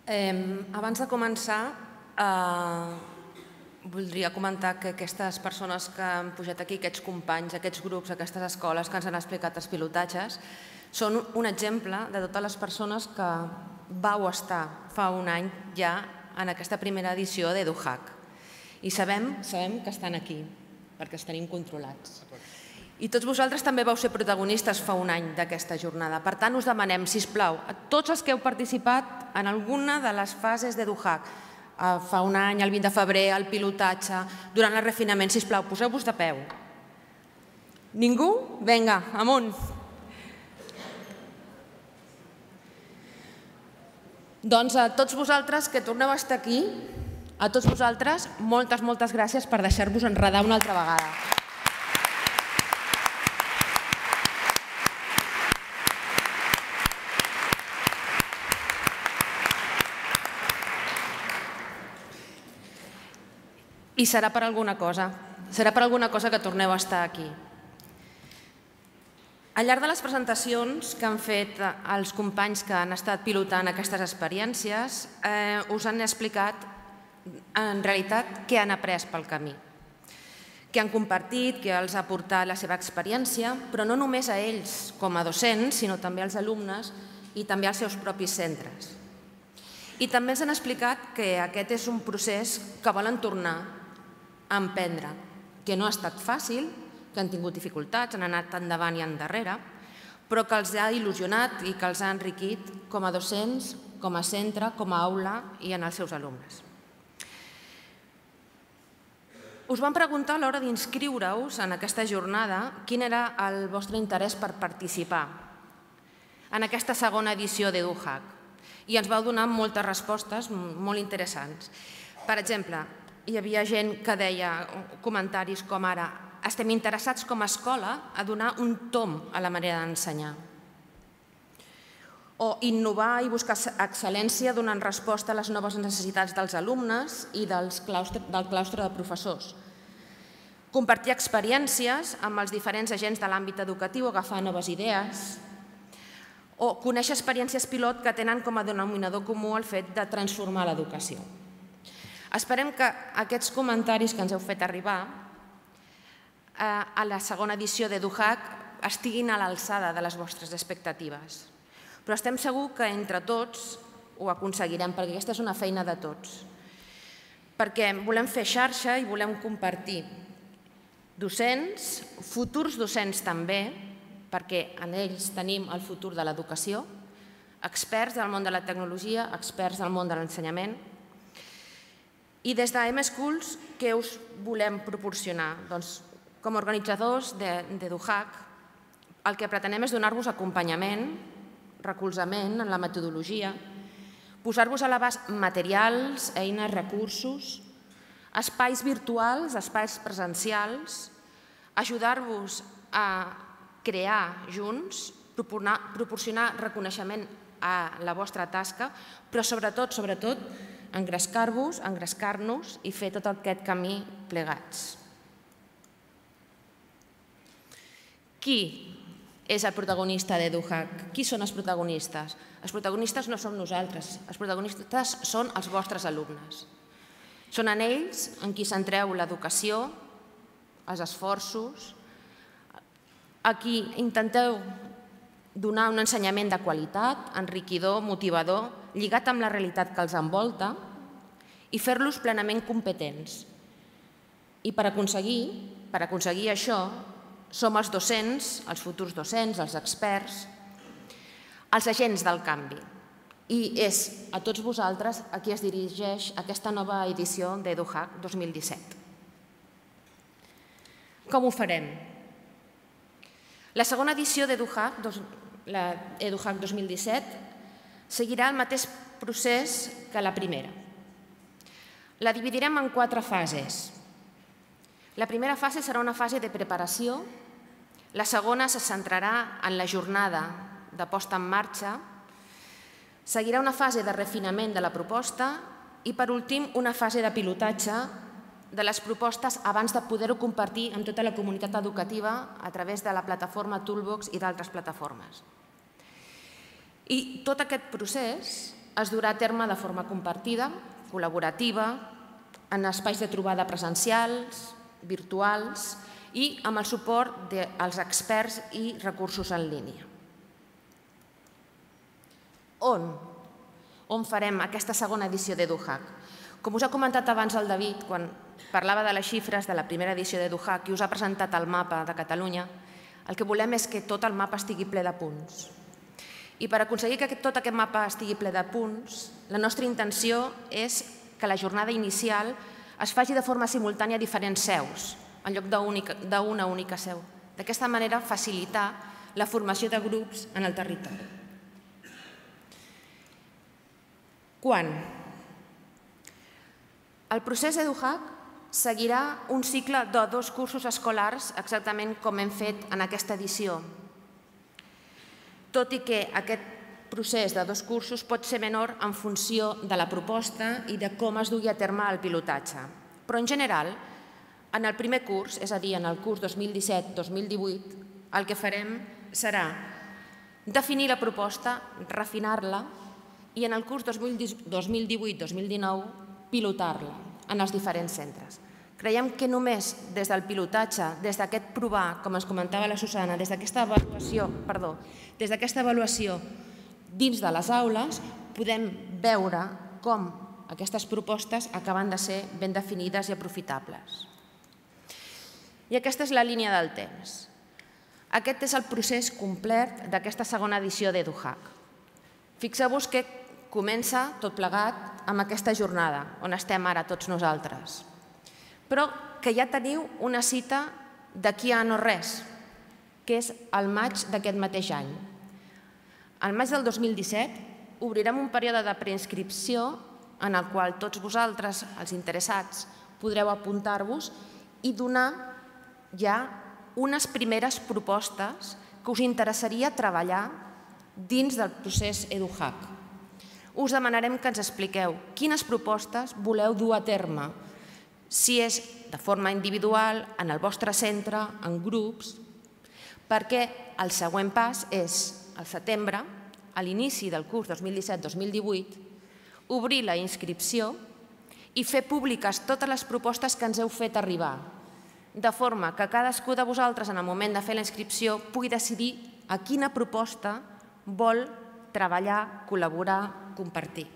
Abans de començar, voldria comentar que aquestes persones que han pujat aquí, aquests companys, aquests grups, aquestes escoles que ens han explicat els pilotatges, són un exemple de totes les persones que vau estar fa un any ja en aquesta primera edició d'EduHack. I sabem que estan aquí, perquè els tenim controlats. I tots vosaltres també vau ser protagonistes fa un any d'aquesta jornada. Per tant, us demanem, sisplau, a tots els que heu participat en alguna de les fases d'EduHack, fa un any, el 20 de febrer, el pilotatge, durant el refinament, sisplau, poseu-vos de peu. Ningú? Vinga, amunt. Doncs a tots vosaltres que torneu a estar aquí, a tots vosaltres, moltes gràcies per deixar-vos enredar una altra vegada. I serà per alguna cosa que torneu a estar aquí. Al llarg de les presentacions que han fet els companys que han estat pilotant aquestes experiències, us han explicat en realitat què han après pel camí, què han compartit, què els ha aportat la seva experiència, però no només a ells com a docents, sinó també als alumnes i també als seus propis centres. I també ens han explicat que aquest és un procés que volen tornar a emprendre, que no ha estat fàcil, que han tingut dificultats, han anat endavant i endarrere, però que els ha il·lusionat i que els ha enriquit com a docents, com a centre, com a aula i en els seus alumnes. Us vam preguntar a l'hora d'inscriure-us en aquesta jornada quin era el vostre interès per participar en aquesta segona edició d'EduHack i ens vau donar moltes respostes molt interessants. Per exemple, hi havia gent que deia comentaris com ara: estem interessats com a escola a donar un tomb a la manera d'ensenyar. O innovar i buscar excel·lència donant resposta a les noves necessitats dels alumnes i del claustre de professors. Compartir experiències amb els diferents agents de l'àmbit educatiu, agafar noves idees. O conèixer experiències pilot que tenen com a denominador comú el fet de transformar l'educació. Esperem que aquests comentaris que ens heu fet arribar a la segona edició d'EduHack estiguin a l'alçada de les vostres expectatives. Però estem segurs que entre tots ho aconseguirem, perquè aquesta és una feina de tots. Perquè volem fer xarxa i volem compartir docents, futurs docents també, perquè en ells tenim el futur de l'educació, experts del món de la tecnologia, experts del món de l'ensenyament. I des d'M-Schools, què us volem proporcionar? Doncs, com a organitzadors d'EduHack, el que pretenem és donar-vos acompanyament, recolzament en la metodologia, posar-vos a l'abast materials, eines, recursos, espais virtuals, espais presencials, ajudar-vos a crear junts, proporcionar reconeixement a la vostra tasca, però sobretot, engrescar-vos, engrescar-nos i fer tot aquest camí plegats. Qui és el protagonista d'EduHack? Qui són els protagonistes? Els protagonistes no som nosaltres, els protagonistes són els vostres alumnes. Són en ells en qui centreu l'educació, els esforços, a qui intenteu donar un ensenyament de qualitat, enriquidor, motivador, lligat amb la realitat que els envolta i fer-los plenament competents. I per aconseguir això, som els docents, els futurs docents, els experts, els agents del canvi. I és a tots vosaltres a qui es dirigeix aquesta nova edició d'EduHack 2017. Com ho farem? La segona edició d'EduHack, l'EduHack 2017, seguirà el mateix procés que la primera. La dividirem en 4 fases. La primera fase serà una fase de preparació, la segona se centrarà en la jornada de posta en marxa, seguirà una fase de refinament de la proposta i, per últim, una fase de pilotatge de les propostes abans de poder-ho compartir amb tota la comunitat educativa a través de la plataforma Toolbox i d'altres plataformes. I tot aquest procés es durà a terme de forma compartida, col·laborativa, en espais de trobada presencials, virtuals i amb el suport dels experts i recursos en línia. On farem aquesta segona edició d'EduHack? Com us ha comentat abans el David, quan parlava de les xifres de la primera edició d'EduHack i us ha presentat el mapa de Catalunya, el que volem és que tot el mapa estigui ple de punts. I per aconseguir que tot aquest mapa estigui ple de punts, la nostra intenció és que la jornada inicial es faci de forma simultània a diferents seus, en lloc d'una única seu. D'aquesta manera, facilitar la formació de grups en el territori. Quan? El procés EduHack seguirà un cicle de 2 cursos escolars exactament com hem fet en aquesta edició. Tot i que aquest procés de 2 cursos pot ser menor en funció de la proposta i de com es dugui a terme el pilotatge. Però en general, en el primer curs, és a dir, en el curs 2017-2018, el que farem serà definir la proposta, refinar-la i en el curs 2018-2019 pilotar-la en els diferents centres. Creiem que només des del pilotatge, des d'aquest provar, com ens comentava la Susana, des d'aquesta avaluació dins de les aules, podem veure com aquestes propostes acaben de ser ben definides i aprofitables. I aquesta és la línia del temps. Aquest és el procés complet d'aquesta segona edició d'EduHack. Fixeu-vos que comença tot plegat amb aquesta jornada, on estem ara tots nosaltres. Però que ja teniu una cita d'aquí a no res, que és el maig d'aquest mateix any. Al maig del 2017 obrirem un període de preinscripció en el qual tots vosaltres, els interessats, podreu apuntar-vos i donar ja unes primeres propostes que us interessaria treballar dins del procés EduHack. Us demanarem que ens expliqueu quines propostes voleu dur a terme, si és de forma individual, en el vostre centre, en grups, perquè el següent pas és, al setembre, a l'inici del curs 2017-2018, obrir la inscripció i fer públiques totes les propostes que ens heu fet arribar, de forma que cadascú de vosaltres, en el moment de fer la inscripció, pugui decidir a quina proposta vol treballar, col·laborar, compartir.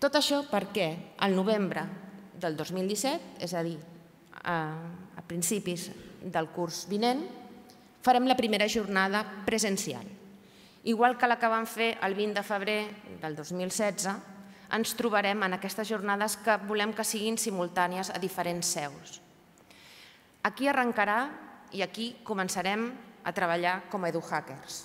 Tot això perquè al novembre del 2017, és a dir, a principis del curs vinent, farem la primera jornada presencial. Igual que la que vam fer el 20 de febrer del 2016, ens trobarem en aquestes jornades que volem que siguin simultànies a diferents seus. Aquí arrencarà i aquí començarem a treballar com a EduHackers.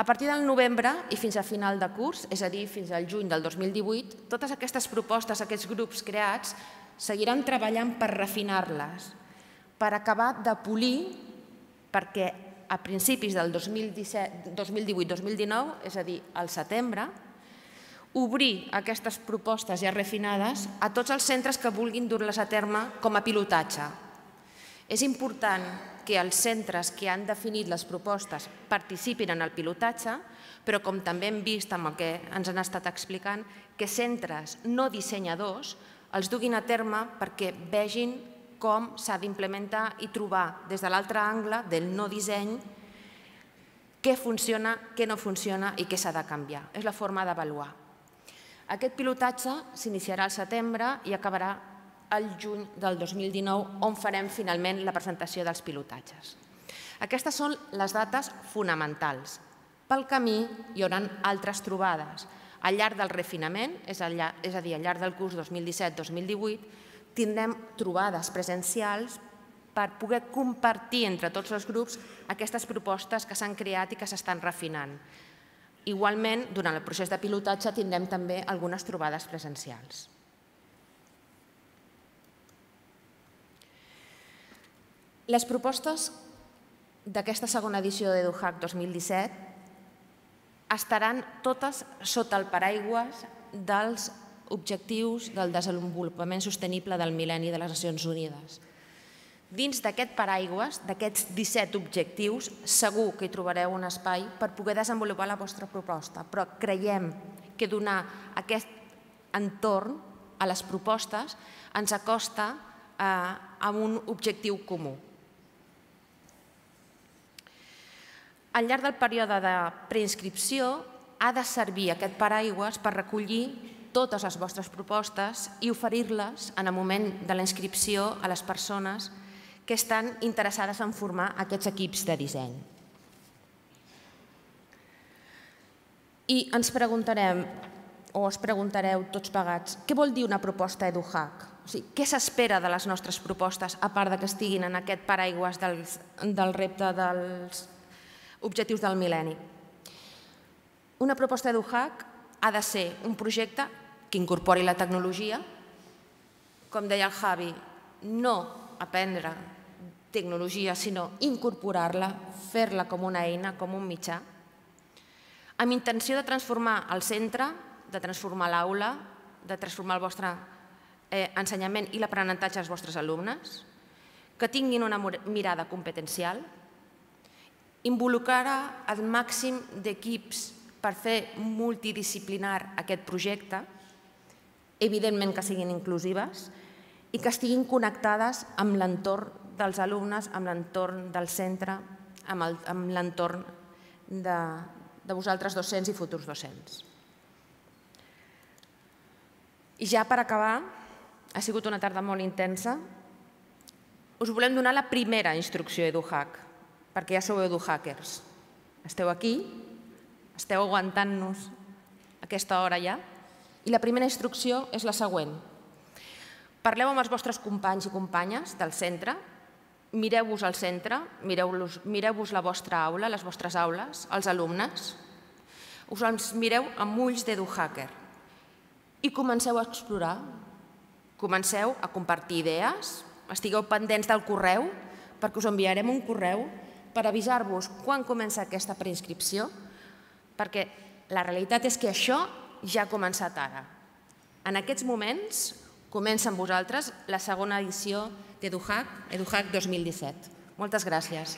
A partir del novembre i fins a final de curs, és a dir, fins al juny del 2018, totes aquestes propostes, aquests grups creats, seguiran treballant per refinar-les, per acabar de polir, perquè a principis del 2018-2019, és a dir, al setembre, obrir aquestes propostes ja refinades a tots els centres que vulguin dur-les a terme com a pilotatge. És important que els centres que han definit les propostes participin en el pilotatge, però com també hem vist amb el que ens han estat explicant, que centres no dissenyadors els duguin a terme perquè vegin com s'ha d'implementar i trobar des de l'altre angle del no disseny què funciona, què no funciona i què s'ha de canviar. És la forma d'avaluar. Aquest pilotatge s'iniciarà al setembre i acabarà al juny del 2019, on farem finalment la presentació dels pilotatges. Aquestes són les dates fonamentals. Pel camí hi haurà altres trobades. Al llarg del refinament, és a dir, al llarg del curs 2017-2018, tindrem trobades presencials per poder compartir entre tots els grups aquestes propostes que s'han creat i que s'estan refinant. Igualment, durant el procés de pilotatge tindrem també algunes trobades presencials. Les propostes d'aquesta segona edició d'EduHack 2017 estaran totes sota el paraigües dels objectius del desenvolupament sostenible del mil·lenni de les Nacions Unides. Dins d'aquest paraigües, d'aquests 17 objectius, segur que hi trobareu un espai per poder desenvolupar la vostra proposta, però creiem que donar aquest entorn a les propostes ens acosta a un objectiu comú. Al llarg del període de preinscripció ha de servir aquest paraigües per recollir totes les vostres propostes i oferir-les en el moment de la inscripció a les persones que estan interessades en formar aquests equips de disseny. I ens preguntarem, o us preguntareu tots plegats, què vol dir una proposta EduHack? Què s'espera de les nostres propostes, a part que estiguin en aquest paraigües del repte dels objectius del mil·lenni? Una proposta EduHack ha de ser un projecte que incorpori la tecnologia, com deia el Javi, no aprendre tecnologia, sinó incorporar-la, fer-la com una eina, com un mitjà, amb intenció de transformar el centre, de transformar l'aula, de transformar el vostre ensenyament i l'aprenentatge dels vostres alumnes, que tinguin una mirada competencial, involucrar el màxim d'equips per fer multidisciplinar aquest projecte, evidentment que siguin inclusives i que estiguin connectades amb l'entorn dels alumnes, amb l'entorn del centre, amb l'entorn de vosaltres docents i futurs docents. I ja per acabar, ha sigut una tarda molt intensa, us volem donar la primera instrucció EduHack, perquè ja sou EduHackers. Esteu aquí, esteu aguantant-nos aquesta hora ja, i la primera instrucció és la següent. Parleu amb els vostres companys i companyes del centre, mireu-vos al centre, mireu-vos la vostra aula, les vostres aules, els alumnes, us els mireu amb ulls d'EduHacker i comenceu a explorar, comenceu a compartir idees, estigueu pendents del correu, perquè us enviarem un correu per avisar-vos quan comença aquesta preinscripció, perquè la realitat és que això ja ha començat ara. En aquests moments comença amb vosaltres la segona edició d'EduHack, EduHack 2017. Moltes gràcies.